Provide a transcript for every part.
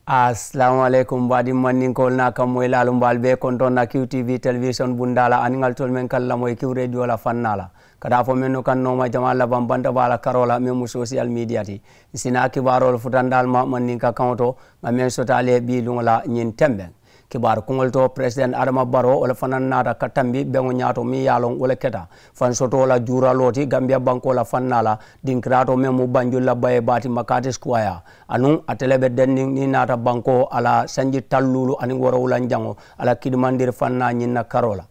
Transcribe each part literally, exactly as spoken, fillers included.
Asalaamu aleykum baadiŋ mandinkoolu naa kammoyilaalu mbe ali bee kontoŋ na kiw tiivi telewisoŋ bundaa la aniŋ ali tolu meŋ ka ali lamoyi kiw reediyo la fannaa la ka taa fo mennu kaŋ nooma jamaa labaŋ banta baa la karoo la meŋ mu sosiyal miidiya ti. Ǹ si naa kibaaroolu futandi ali ma mandinka kaŋo to ŋa meŋ soto ali ye bii luŋo la ñiŋ tembeŋ kibaaru kuŋolu to peresidenti adama baroo wo le fanaŋ naata ka tambi beŋo ñaato meŋ ye a loŋ wo le keta fansotoo la juuraloo ti gambiya bankoo la fannaa la dinkiraatoo meŋ mu banjulu la bayee baa ti makaati sukuwayaa. Anuŋ ate le be denniŋ niŋ i naata bankoo a la sanji taŋ luulu aniŋ woorowulanjaŋo a la kidimandiri fannaa ñiŋ na karoo la.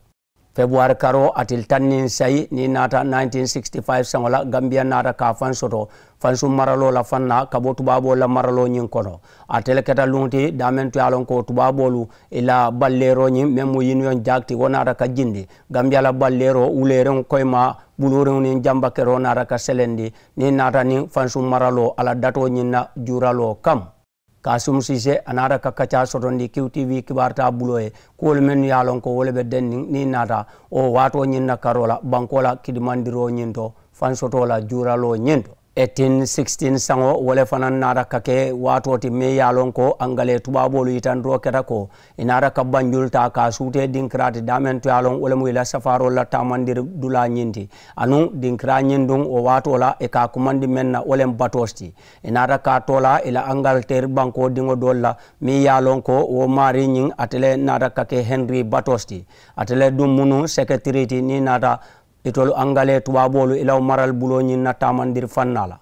Febuwaari karoo a tili taŋ niŋ sayi niŋ i naata nineteen sixty five saŋo la gambiya naata ka a faŋ soto fansuŋ maraloo la fannaa ka bo tubaaboolu la maraloo ñiŋ kono. Ate le keta luŋo ti daameŋ to ye a loŋ ko tubaaboolu i la balleeroo ñiŋ meŋ mu yuniyoŋ jaaki ti wo naata ka jindi gambiya la balleeroo wuleeriŋo koyimaa buluuriŋo niŋ jambakeroo naata ka selendi niŋ i naata niŋ fansuŋ maraloo a la datoo ñiŋ na juuraloo kamma. Kaasumu siisee a naata ka kaccaa sotondi kiw tiivi kibaaru taa buloo ye kuwolu mennu ye a loŋ ko wo le be denniŋ niŋ i naata wo waatoo ñiŋ na karoo la bankoo la kidimandiroo ñiŋ to fansotoo la juuraloo ñiŋ to. Eighteen sixteen saŋo wo le fanaŋ naata ka ke waatoo ti meŋ ye a loŋ ko angalee tubaaboolu yitandiroo keta ko i naata ka banjulu taa ka a suutee dinkiraati daameŋ to ye a loŋ wo le mu i la safaaroolu la taamandiri dulaa ñiŋ ti. Anuŋ dinkiraa ñiŋ duŋ wo waatoo la i ka a kumandi meŋ na wo le mu batoosi ti. I naata ka a too la i la angaliteeri bankoo diŋo doolu la meŋ ye a loŋ ko wo maarii ñiŋ ate le naata ka ke heniri batoosi ti. Ate le duŋ munu seketirii ti niŋ i naata itolu angalee tubaaboolu i la wo marali buloo ñiŋ na taamandiri fannaa la.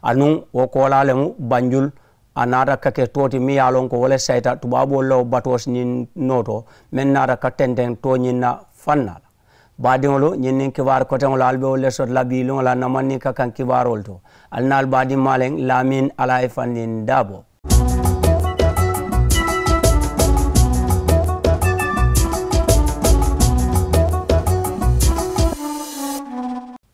Anuŋ wo koolaa le mu banjulu a naata ka ke too ti meŋ ye a loŋ ko wo le sayita tubaaboolu la wo batoosi ñiŋ noo to meŋ naata ka tenteŋ too ñiŋ na fannaa la. Baadiŋolu ñiŋ niŋ kibaaru koteŋolu ali be wolu le soto la bii luŋo la na maŋ niŋ ka kaŋ kibaaroolu to. Ali naa ali baadiŋ maaleŋ laamiŋ ali a ye fandiŋ daaboo.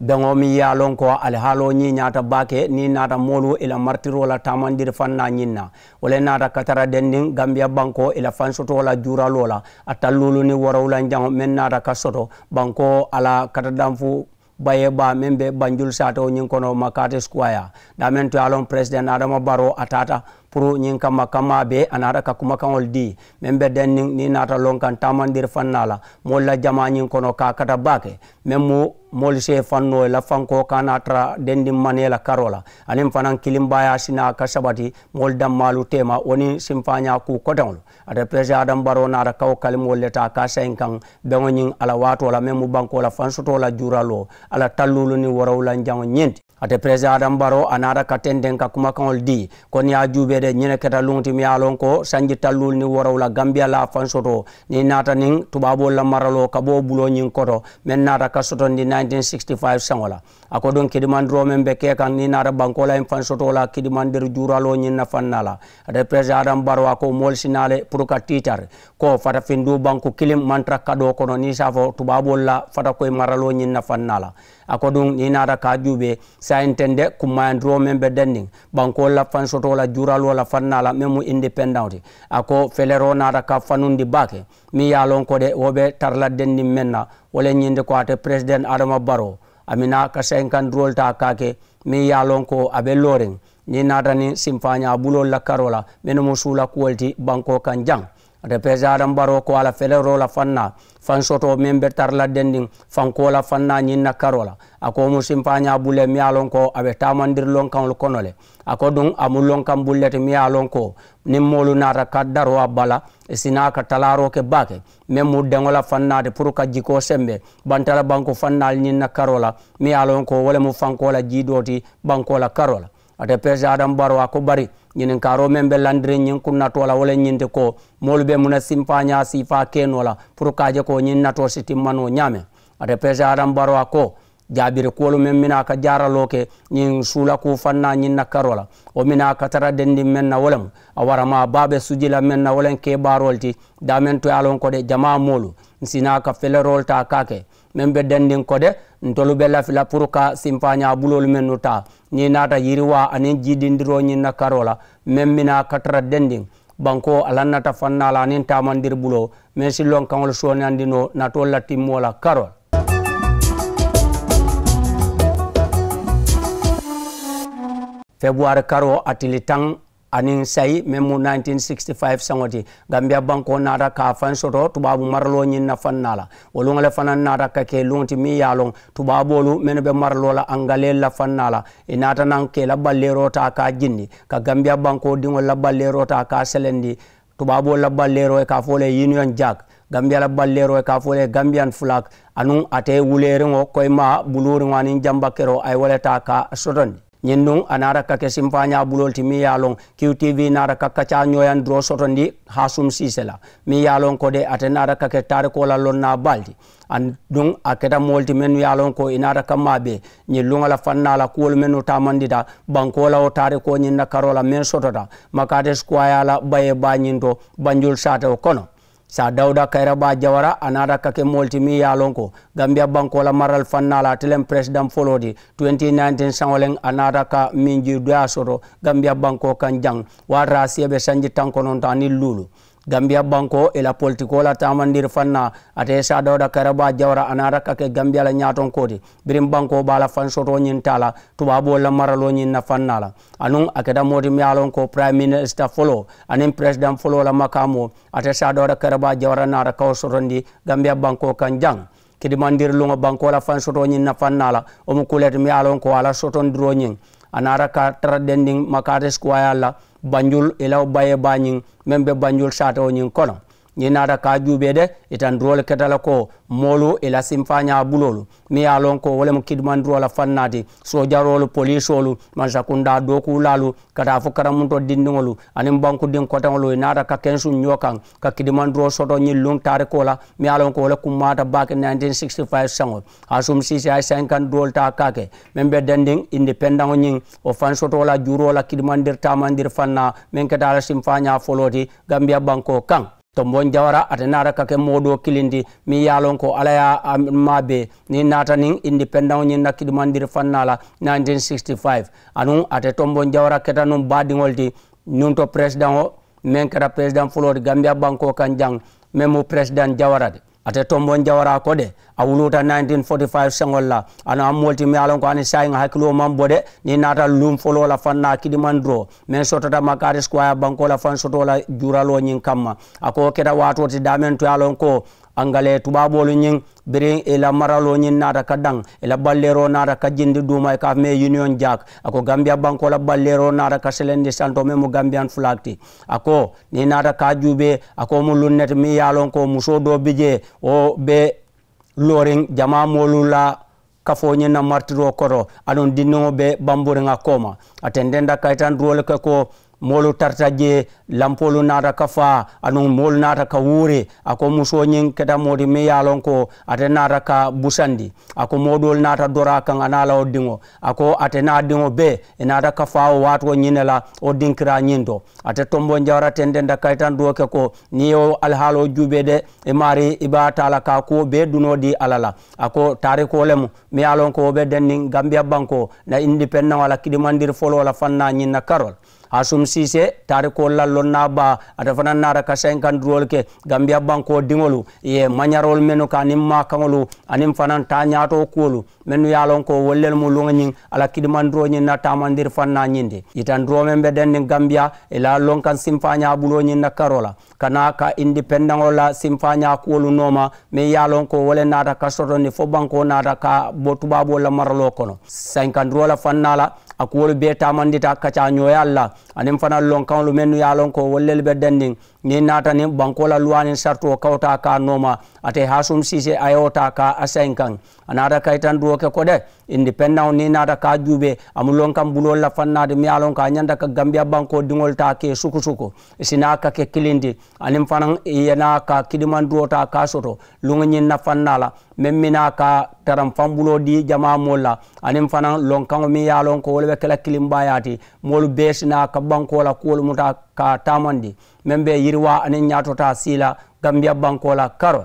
Beŋo meŋ ye a loŋ ko alihaaloo ñiiñaata baake niŋ i naata moolu i la maritiroo la taamandiri fannaa ñiŋ na. Wo le naata ka tara dendiŋ gambiya bankoo i la fansotoo la juuraloo la a talluulu niŋ woorowulanjaŋo meŋ naata ka soto bankoo a la katadanfu bayee baa meŋ be banjulu saatoo ñiŋ kono makaati sukuwaayaa. Daameŋ to ye a loŋ peresidenti adama baroo a taata puru ñiŋ kamma kammaa bee a naata ka kumakaŋolu dii meŋ be dendiŋ niŋ i naata loŋ kaŋ taamandiri fannaa la moolu la jamaa ñiŋ kono ka a kata baake. Meŋ mu moolu si ye fannoo i la fankoo ka a naa tara dendiŋ manee la karoo la aniŋ fanaŋ kilimbaayaa si naa ka sabati moolu dammaalu teema wo niŋ simfaañaa kuu koteŋolu. Ate peresidenti adama baroo naata kawo kalimoolu le taa ka a sayiŋ kaŋ beŋo ñiŋ a la waatoo la meŋ mu bankoo la fansotoo la juuraloo a la talluulu niŋ woorowulanjaŋo ñiŋ ti. Ate peresidenti adama baroo a naata ka tenteŋ ka kumakaŋolu dii ko niŋ i ye a juubee de ñiŋ ne keta luŋo ti meŋ ye a loŋ ko sanji talluulu niŋ woorowula gambiya la a fansotoo niŋ i naata niŋ tubaaboolu la maraloo ka bo wo buloo ñiŋ koto meŋ naata ka sotondi nineteen sixty five saŋo la. A ko duŋ kidimandiroo meŋ be kee kaŋ niŋ i naata bankoo la ñiŋ fansotoo la kidimandiri juuraloo ñiŋ na fannaa la. Ate peresidenti adama baroo a ko moolu si naa le puru ka tiitari ko fatafinduu banku kiliŋ maŋ tara kadoo kono niŋ i si a fo tubaaboolu la fatakoyi maraloo ñiŋ na fannaa la. A ko duŋ niŋ i naata ka a juubee saayiŋ tende kummaayandiroo meŋ be dendiŋ bankoolu la fansotoo la juuraloo la fannaa la meŋ mu indipendaŋo ti. A ko feleroo naata ka fanundi baake meŋ ye a loŋ ko de wo be tara la dendiŋ meŋ na wo le ñiŋ ti ko ate peresidenti adama baroo a mi naa ka sayinkandiroolu taa ka a ke meŋ ye a loŋ ko a be looriŋ niŋ i naata niŋ simfaañaa buloolu la karoo la mennu mu suula kuwolu ti bankoo kaŋ jaŋ. Ate peresidenti adama baroo ko a la feleroo la fannaa fansotoo meŋ be tara la dendiŋ fankoo la fannaa ñiŋ na karoo la a ko wo mu simfaañaa bulu le meŋ ye a loŋ ko a be taamandiri lonkaŋolu kono le. A ko duŋ a mu lonkaŋ bulu le ti meŋ ye a loŋ ko niŋ moolu naata ka daroo a bala i si naa ka talaaroo ke baake meŋ mu deŋo la fannaa ti puru ka jikoo sembe bantala banku fannaalu ñiŋ na karoo la meŋ ye a loŋ ko wo le mu fankoo la jii doo ti bankoo la karoo la. Ate peresidenti adama baroo a ko bari ñininkaaroo meŋ be landiriŋ ñiŋ kunnatoo la wo le ñiŋ ti ko moolu be muŋ na simpaañaa siifaa ke noo la puru ka a je ko ñiŋ natoo si timma noo ñaameŋ. Ate peresidenti adama baroo a ko jaabiri kuwolu meŋ minaa ka jaaraloo ke ñiŋ suula kuu fannaa ñiŋ na karoo la wo minaa ka tara dendiŋ meŋ na wo le mu a waramaa baa be suji la meŋ na wo le mu kebaaroolu ti daameŋ to ye a loŋ ko de jamaa moolu ǹ si naa ka feleroolu taa ka a ke meŋ be dendiŋ ko de ntolu be lafi la puru ka simfaañaa buloolu mennu taa niŋ i naata yiriwaa aniŋ jiidindiroo ñiŋ na karoo la meŋ minaa ka tara dendiŋ bankoo a lannata fannaa la aniŋ taamandiri buloo meŋ si lonkaŋolu sooniyandi noo natoolu la timmoo la karoo la. Febuwaari karoo a tili taŋ aniŋ sayi meŋ mu nineteen sixty five saŋo ti. Gambiya bankoo naata ka a faŋ soto tubaabu maraloo ñiŋ na faŋ naa la. Wo luŋo le fanaŋ naata ka ke luŋo ti meŋ ye a loŋ tubaaboolu mennu be maraloo la angaleelu la faŋ naa la, ì naata naŋ ka ì la balleeroo taa ka a jindi, ka gambiya bankoo diŋolu la balleeroo taa ka a selendi. Tubaaboolu la balleeroo ì ka a fo wo le ye union jack. Gambiya la balleeroo ì ka a fo wo le ye gambiyan fulak. Anuŋ ate wuleeriŋo koyimaa buluuriŋo aniŋ jambakeroo a ye wo le taa ka a sotondi. Ñiŋ duŋ a naata ka ke simfaañaa buloolu ti meŋ ye a loŋ, kiw tiivi naata ka kacaa ñooyandiroo sotondi haasum siise la meŋ ye a loŋ ko de ate naata ka ke taarikoo la lonnaa baalu ti. Aduŋ a keta moolu ti mennu ye a loŋ ko ì naata ka maabee ñiŋ luŋo la faŋ naa la kuwolu mennu taamandita bankoo la wo taarikoo ñiŋ na karoo la meŋ sotota makaate sukuwaayaa la bayee baa ñiŋ to banjulu saatewo kono. Saa dawuda kayirabaa jawara a naata ka ke moolu ti meŋ ye a loŋ ko gambiya bankoo la maralu faŋ naa la ate le mu peresidaŋ foloo ti. Twenty nineteen saŋo le a naata ka minjii doyaa soto gambiya bankoo kaŋ jaŋ. Waati a siye be sanji taŋ kononto aniŋ luulu. Gambiya bankoo ì la politikoo la taamandiri faŋ naa ate ye saa dawuda kayirabaa jawara a naata ka ke gambiya la ñaatonkoo ti. Biriŋ bankoo be a la faŋ sotoo ñiŋ taa la tubaaboolu la maraloo ñiŋ na faŋ naa la. Anuŋ a keta moo ti meŋ ye a loŋ ko pirayiminista foloo aniŋ peresidaŋ foloo la makaamoo ate saa dawuda kayirabaa jawara naata ka wo sotondi gambiya bankoo kaŋ jaŋ. Kidimandiri luŋo bankoo la faŋ sotoo ñiŋ na faŋ naa la wo mu kuu le ti meŋ ye a loŋ ko a la sotondiroo ñiŋ a naata ka tara dendiŋ makaate sukuwaayaa la banjulu ì la wo bayee baa ñiŋ meŋ be banjulu saatewo ñiŋ kono. Ñiŋ naata ka a juubee de. Itandiroolu keta le ko moolu ì la simfaañaa buloolu meŋ ye a loŋ ko wo le mu kidimandiroo la faŋ naa ti. Soojaroolu poliisoolu mansakundaa dookuulaalu ka taa fo karamuntoo dindiŋolu aniŋ bankudiŋ koteŋolu ì naata ka kensuŋ ñoo kaŋ ka kidimandiroo soto ñiŋ luŋ taarikoo la meŋ ye a loŋ ko wo le kummaata baake nineteen sixty five saŋo. Haasum siisee a ye sayinkandiroolu taa ka a ke meŋ be dendiŋ indipendaŋo ñiŋ wo faŋ sotoo la juuroo la kidimandiri taamandiri faŋ naa meŋ keta a la simfaañaa foloo ti gambiya bankoo kaŋ. Tomboŋ jawara ate naata ka ke moo doo kiliŋ ti meŋ ye a loŋ ko alla ye a maabee niŋ ì naata niŋ indipendaŋo ñiŋ na kidimandiri faŋ naa la nineteen sixty five. Anuŋ ate tomboŋ jawara keta nuŋ baadiŋo le ti nuŋ to peresidaŋo meŋ keta peresidaŋ foloo ti gambiya bankoo kaŋ jaŋ meŋ mu peresidaŋ jawara ti. Ate tomboŋ jawaraa ko de a wuluuta nineteen forty five seŋolu la. A naŋ moolu ti meŋ ye a loŋ ko aniŋ saayiŋ hakiloo maŋ bo de niŋ ì naata luŋ foloo la faŋ naa kidimandiroo meŋ sotota makaati sukuwaayaa bankoo la faŋ sotoo la juuraloo ñiŋ kamma. A ko wo keta waatoo ti daameŋ to ye a loŋ ko angalee tubaaboolu ñiŋ biriŋ ì la maraloo ñiŋ naata ka daŋ ì la balleeroo naata ka jindi duuma ì ka a fo meŋ ye union jack. A ko gambiya bankoo la balleeroo naata ka selendi santoo meŋ mu gambiyan fulaak ti. A ko niŋ ì naata ka a juubee a ko wo mu luŋ ne ti meŋ ye a loŋ ko musoo doo bi jee wo be looriŋ jamaa moolu la kafoo ñiŋ na maritiroo koto aduŋ dindiŋo be bamburiŋ a kooma. A tententa kayitandiroo le ke ko moolu tarata jee lampoolu naata ka faa aduŋ moolu naata ka wuuri. A ko musoo ñiŋ keta moo ti meŋ ye a loŋ ko ate naata ka busandi. A ko moo doolu naata doro a kaŋ a niŋ a la wo diŋo a ko ate niŋ a diŋo bee ì naata ka faa wo waatoo ñiŋ ne la wo dinkiraa ñiŋ to. Ate tomboŋ jawara tententa kayitandiroo ke ko niŋ ì ye wo alihaaloo juubee de ì maarii ì be a taa la ka a kuwo bee dunoo dii alla la. A ko taarikoo le mu meŋ ye a loŋ ko wo be denniŋ gambiya bankoo na indipendaŋo a la kidimandiri foloo la faŋ naa ñiŋ na karoo la. Haasum siisee taarikoolu la lonnaa baa ate fanaŋ naata ka sayinkandiroolu ke gambiya bankoo diŋolu ì ye mañaroolu mennu ka aniŋ maakaŋolu aniŋ fanaŋ taañaatoo kuwolu mennu ye a loŋ ko wolu lelu mu luŋo ñiŋ a la kidimandiroo ñiŋ na taamandiri faŋ naa ñiŋ ti. Yitandiroo meŋ be denniŋ gambiya ì la lonkaŋ simfaañaa buloo ñiŋ na karoo la ka naa ka indipendaŋo la simfaañaa kuwolu nooma meŋ ye a loŋ ko wo le naata ka sotondi fo bankoo naata ka bo tubaaboolu la maraloo kono. Sayinkandiroo la faŋ naa la a kuwolu bee taamandita kacaañooyaalu la aniŋ fanaa lonkaŋolu mennu ye a loŋ ko wolu lelu be dendiŋ. Niŋ ì naata niŋ bankoo la luwaa niŋ saritoo kawutaa ka a nooma ate haasum siisee a ye wo taa ka a sayinkaŋ. A naata kayitandiroo ke ko de indipendaŋo niŋ ì naata ka a juubee a mu lonkaŋ buloolu la faŋ naa ti meŋ ye a loŋ ko a ñanta ka gambiya bankoo diŋolu taa ka ì sukusuku. Ì si naa ka ke kiliŋ ti aniŋ fanaŋ ì ye naa ka kidimandiroo taa ka a soto luŋo ñiŋ na faŋ naa la meŋ mi naa ka taraŋ faŋ buloo dii jamaa moolu la aniŋ fanaŋ lonkaŋo meŋ ye a loŋ ko wo le be ke la kiliŋ baayaa ti. Moolu bee si naa ka bankoo la kuwolu muta ka a taamandi meŋ be yiriwaa aniŋ ñaatotaa sii la gambiya bankoo la karoo.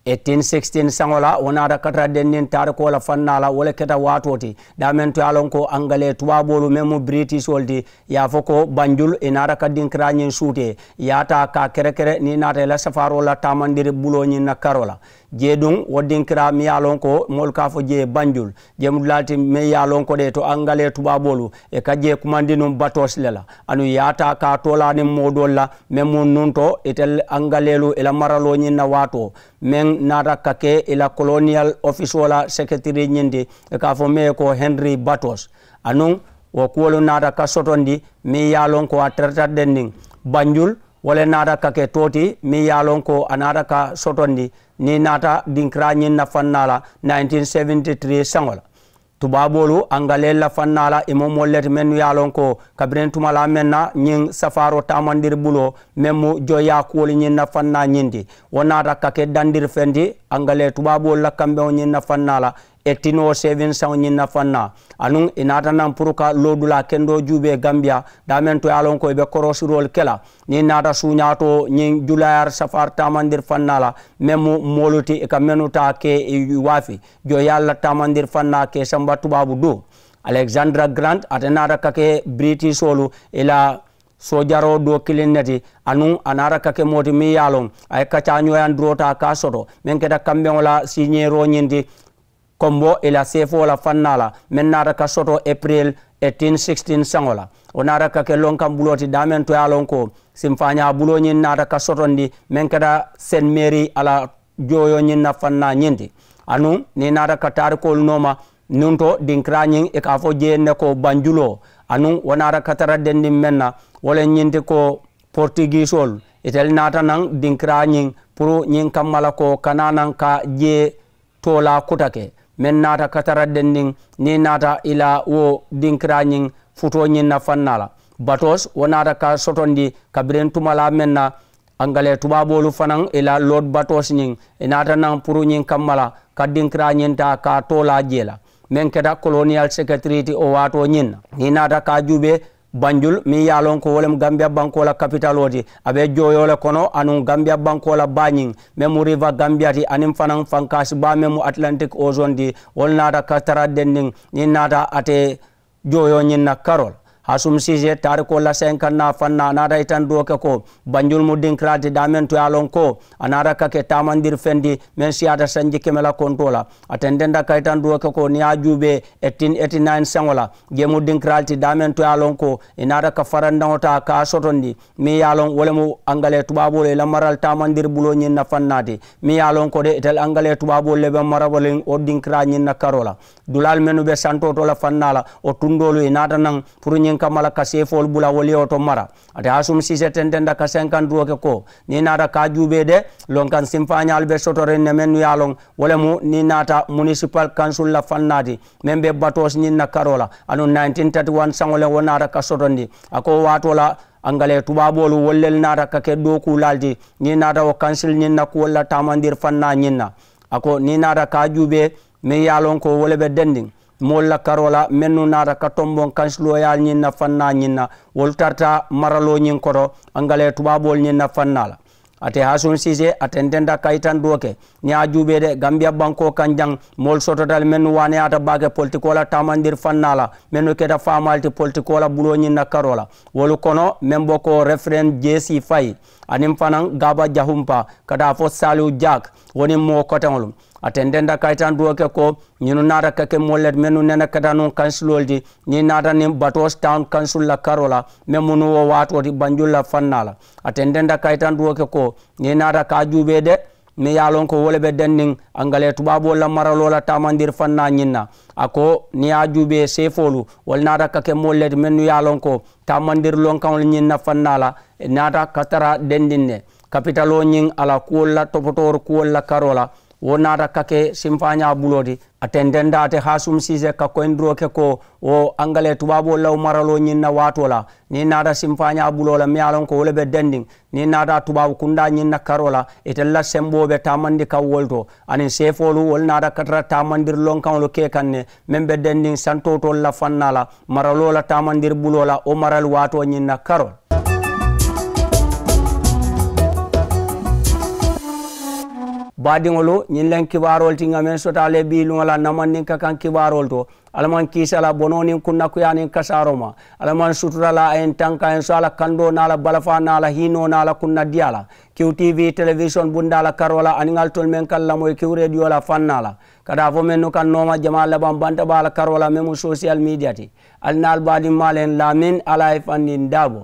Ì Tin sixteen saŋo la wo naata ka tara denniŋ taarikoo la fannaa la wo le keta waatoo ti daameŋ to ye a loŋ ko angalee tubaaboolu meŋ mu biritisoolu ti ye a fo ko banjulu ì naata ka dinkiraa ñiŋ suutee ye a taa ka a kerekere niŋ ì naata ì la safaaroo la taamandiri buloo ñiŋ na karoo la. Jee duŋ wo dinkiraa meŋ ye a loŋ ko moolu ka a fo jee banjulu jemudulaalu ti meŋ ye a loŋ ko de to angalee tubaaboolu ì ka jee kumandi nuŋ batoosi le la. Aduŋ ì ye a taa ka a toolaa niŋ moo doolu la meŋ mu nuŋ to itelu angaleelu ì la maraloo ñiŋ na waatoo meŋ naata ka ke ì la koloniyal ofisoo la seketirii ñiŋ ti ì ka a fo meŋ ye ko henri batos. Aduŋ wo kuwolu naata ka sotondi meŋ ye a loŋ ko a tarata denniŋ banjulu wo le naata ka ke too ti meŋ ye a loŋ ko a naata ka sotondi niŋ ì naata dinkiraa ñiŋ na fannaa la nineteen seventy three saŋo la. Tubaaboolu angaleelu la fannaa la ì mu moolu le ti mennu ye a loŋ ko kabiriŋ tumalaa meŋ na ñiŋ safaaroo taamandiri buloo meŋ mu joyaa kuwolu ñiŋ na fannaa ñiŋ ti wo naata ka ke dandiri feŋ ti angalee tubaaboolu la kambeŋo ñiŋ na fannaa la. Eighteen oh seven saŋo ñiŋ na fannaa aduŋ ì naata naŋ puru ka loodulaa kendoo juubee gambiya daameŋ to ye a loŋ ko ì be korosiroolu ke la niŋ ì naata suuñaatoo ñiŋ julayaari safaari taamandiri fannaa la meŋ mu moolu ti ì ka mennu taa ke ì waafi joyaalu la taamandiri fannaa ka ì samba tubaabu duu. Alexandra garant ate naata ka ke biritisoolu ì la soojaroo doo kiliŋ ne ti aduŋ a naata ka ke moo ti meŋ ye a loŋ a ye kacaañooyandiroo taa ka a soto meŋ keta kambeŋo la siiñeeroo ñiŋ ti. Kombo ì la seefoo la fannaa la meŋ naata ka soto epiril eighteen sixteen saŋo la wo naata ka ke lonkaŋ buloo ti daameŋ to ye a loŋ ko simfaañaa buloo ñiŋ naata ka sotondi meŋ keta sent meeri a la jooyoo ñiŋ na fannaa ñiŋ ti. Aduŋ niŋ ì naata ka taarikoolu nooma nuŋ to dinkiraa ñiŋ ì ka a fo jee ne ko banjuloo aduŋ wo naata ka tara dendiŋ meŋ na wo le ñiŋ ti ko portigiisoolu itelu naata naŋ dinkiraa ñiŋ puru ñiŋ kamma la ko kana naŋ ka jee toolaa kuta ke meŋ naata ka tara dendiŋ niŋ ì naata ì la wo dinkiraa ñiŋ futoo ñiŋ na fannaa la. Batos wo naata ka sotondi kabiriŋ tumalaa meŋ na angalee tubaaboolu fanaŋ ì la lord batos ñiŋ ì naata naŋ puru ñiŋ kamma la ka dinkiraa ñiŋ taa ka a toolaa jee la meŋ keta koloniyal seketirii ti wo waatoo ñiŋ na niŋ ì naata ka a juubee banjulu meŋ ye a loŋ ko wo le mu gambiya bankoo la kapitaloo ti a be jooyoo le kono anuŋ gambiya bankoo la baa ñiŋ meŋ mu riva gambiya ti aniŋ fanaŋ fankaasi baa meŋ mu atilantik ozoŋ ti wolu naata ka tara dendiŋ niŋ ì naata ate jooyoo ñiŋ na karoo la. Hasum siisee taarikoo la senkaŋ naa faŋ naa a naata itandiroo ke ko banjulu mu dinkiraa ti daameŋ to ye a loŋ ko a naata ka ke taamandiri feŋ ti meŋ siyaata sanji keme la kontoo la. A tententa ka itandiroo ke ko niŋ ye a juubee eighteen eighty nine saŋo la jee mu dinkiraa le ti daameŋ to ye a loŋ ko ì naata ka farandaŋo taa ka a sotondi meŋ ye a loŋ wo le mu angalee tubaaboolu ì la mara le taamandiri buloo ñiŋ na faŋ naa ti meŋ ye a loŋ ko de itelu angalee tubaaboolu le be marabaliŋ wo dinkiraa ñiŋ na karoo la. Dulaalu mennu be santoo to la fannaa la wo tundoolu ì naata naŋ puru ñiŋ kamma la ka seefoolu bula wolu ye wo to mara. Ate hasum siise tententa ka senkandiroo ke ko niŋ ì naata ka a juubee de lonkaŋ sinfaañaalu be sotoriŋ ne mennu ye a loŋ wo le mu niŋ ì naata munisipal kansul la fannaa ti meŋ be batoosi ñiŋ na karoo la anuŋ nineteen thirty one saŋo le wo naata ka sotondi. A ko wo waatoo la angalee tubaaboolu wolu lelu naata ka ke dookuulaalu ti niŋ ì naata wo kansul ñiŋ na kuwolu la taamandiri fannaa ñiŋ na. A ko niŋ ì naata ka a juubee meŋ ye a loŋ ko wo le be dendiŋ moolu la karoo la mennu naata ka tomboŋ kansilooyaalu ñiŋ na fannaa ñiŋ na wolu tarata maraloo ñiŋ koto angalee tubaaboolu ñiŋ na fannaa la. Ate hasum siise a tententa ka itandiroo ke niŋ ye a juubee de gambiya bankoo kaŋ jaŋ moolu sotota le mennu waaneyaata baake politikoo la taamandiri fannaa la mennu keta faamaalu ti politikoo la buloo ñiŋ na karoo la wolu kono meŋ bo ko referent jesi fayi aniŋ fanaŋ gaaba jahumpa ka taa fo saliwu jaak wo niŋ moo koteŋolu. A tententa ka itandiroo ke ko ñunu naata ka ke moolu le ti mennu nene keta nuŋ kansiloolu ti niŋ ì naata niŋ batoosi tawun kansul la karoo la meŋ mu nuŋ wo waatoo ti banjulu la fannaa la. A tententa ka itandiroo ke ko niŋ ì naata ka a juubee de meŋ ye a loŋ ko wo le be denniŋ angalee tubaaboolu la maraloo la taamandiri fannaa ñiŋ na. A ko niŋ ye a juubee seefoolu wolu naata ka ke moolu le ti mennu ye a loŋ ko taamandiri lonkaŋolu ñiŋ na fannaa la ì naata ka tara dendiŋ ne kapitaloo ñiŋ a la kuwolu la topotoori kuwolu la karoo la wo naata ka ke sinfaañaa buloo ti. A tententa ate hasum siise ka koyindiroo ke ko wo angalee tubaaboolu la wo maraloo ñiŋ na waatoo la niŋ ì naata sinfaañaa buloo la meŋ ye a loŋ ko wo le be dendiŋ niŋ ì naata tubaabu kundaa ñiŋ na karoo la itelu la semboo be taamandi kaŋ wolu to aniŋ seefoolu wolu naata ka tara taamandiri lonkaŋolu ke kaŋ ne meŋ be dendiŋ santoo toolu la fannaa la maraloo la taamandiri buloo la wo marali waatoo ñiŋ na karoo la. Baadiŋolu, ñiŋ leŋ kibaaroolu ti ŋa meŋ soto a le bii luŋo la namandinka kaŋ kibaaroolu to. Alla maŋ kiisa la bonoo niŋ kunnakuyaa niŋ kasaaroo ma. Alla maŋ sutura la a ye n tanka a ye n so a la kandoo niŋ a la balafaa niŋ a la hiinoo niŋ a la kunnadiyaa la. Kiw tv telewisoni bundaa la karoo la aniŋ ali tolu meŋ ka lamoyi kiw rediyo la fannaa la. Ka daa fo mennu ka nooma jamaa labaŋ banta baa la karoo la meŋ mu sosiyal midiya ti. Ali niŋ ali baadimmaa le n laamin alla ye fandin daabo.